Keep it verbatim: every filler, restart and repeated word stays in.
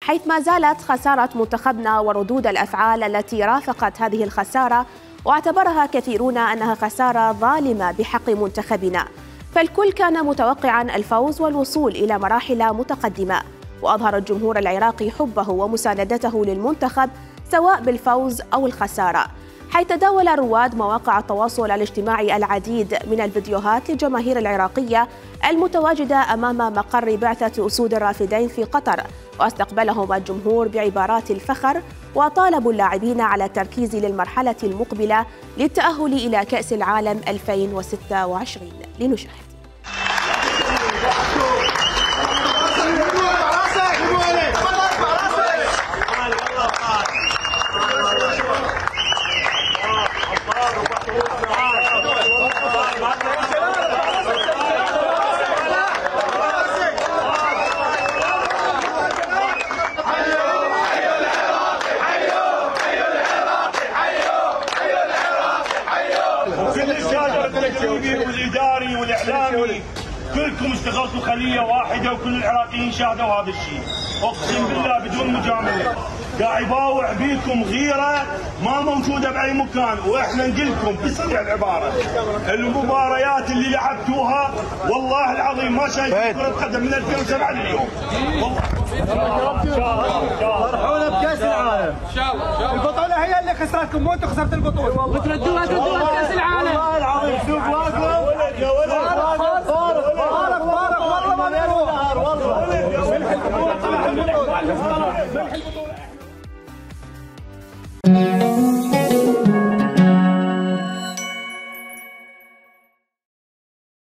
حيث ما زالت خسارة منتخبنا وردود الأفعال التي رافقت هذه الخسارة واعتبرها كثيرون أنها خسارة ظالمة بحق منتخبنا، فالكل كان متوقعاً الفوز والوصول إلى مراحل متقدمة. وأظهر الجمهور العراقي حبه ومساندته للمنتخب سواء بالفوز أو الخسارة، حيث تداول رواد مواقع التواصل الاجتماعي العديد من الفيديوهات للجماهير العراقية المتواجدة أمام مقر بعثة أسود الرافدين في قطر، واستقبلهم الجمهور بعبارات الفخر وطالبوا اللاعبين على التركيز للمرحلة المقبلة للتأهل إلى كأس العالم ألفين وستة وعشرين. لنشاهد. وكل الشارع التلفزيوني والاداري والاعلامي كلكم اشتغلتوا خليه واحده، وكل العراقيين شاهدوا هذا الشيء، اقسم بالله بدون مجامله، قاعد يباوع بيكم غيره ما موجوده باي مكان، واحنا نقول لكم بصريح العباره المباريات اللي لعبتوها والله العظيم ما شايف كره قدم من ألفين وسبعة لليوم. فرحونا بكاس العالم. البطوله هي اللي خسرتكم، مو انتم خسرتوا البطوله. وتردوها تردوها بكاس العالم. والله العظيم شوف واقف يا ولد فارق فارق فارق والله ما بيروح والله.